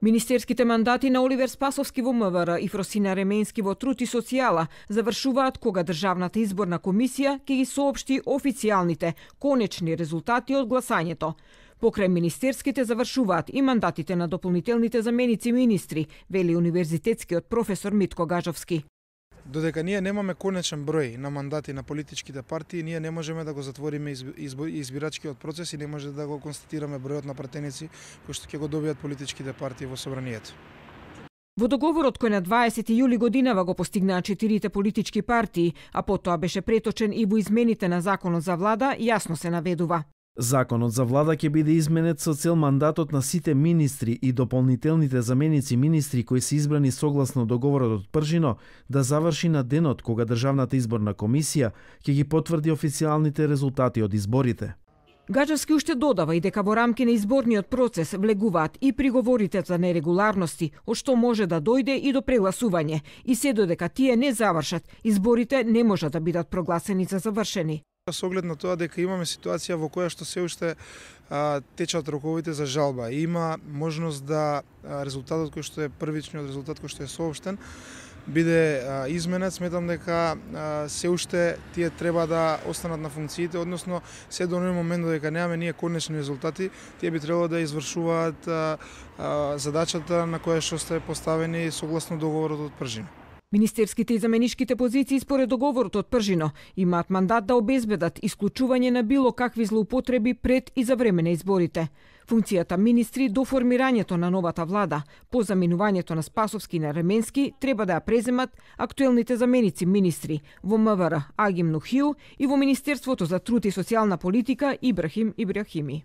Министерските мандати на Оливер Спасовски во МВР и Фросина Ременски во Труд и социјала завршуваат кога Државната изборна комисија ќе ги соопшти официјалните, конечни резултати од гласањето. Покрај министерските завршуваат и мандатите на дополнителните заменици министри, вели универзитетскиот професор Митко Гажовски. Додека ние немаме конечен број на мандати на политичките партии, ние не можеме да го затвориме избирачкиот процес и не може да го констатираме бројот на пратеници кои што ќе го добијат политичките партии во собранието. Во договорот кој на 20 јули годинава го постигнаа 4 политички партии, а потоа беше преточен и во измените на законот за влада, јасно се наведува. Законот за влада ќе биде изменет со цел мандатот на сите министри и дополнителните заменици министри кои се избрани согласно договорот од Пржино да заврши на денот кога Државната изборна комисија ќе ги потврди официјалните резултати од изборите. Гажовски уште додава и дека во рамки на изборниот процес влегуваат и приговорите за нерегуларности, од што може да дојде и до прегласување, и се додека тие не завршат, изборите не можат да бидат прогласени за завршени. Со оглед на тоа дека имаме ситуација во која што се уште течат роковите за жалба и има можност да резултатот кој што е првичниот резултат кој што е соопштен биде изменет, сметам дека се уште тие треба да останат на функциите, односно се до оној момент додека немаме ние конечни резултати, тие би требало да извршуваат задачата на која што сте поставени согласно договорот од Пржино. Министерските и заменишките позиции според договорот од Пржино имаат мандат да обезбедат исклучување на било какви злоупотреби пред и за време на изборите. Функцијата министри до формирањето на новата влада, по заминувањето на Спасовски и на Ременски, треба да ја преземат актуелните заменици министри во МВР Агим Нухиу и во Министерството за труд и социјална политика Ибрахим Ибрахими.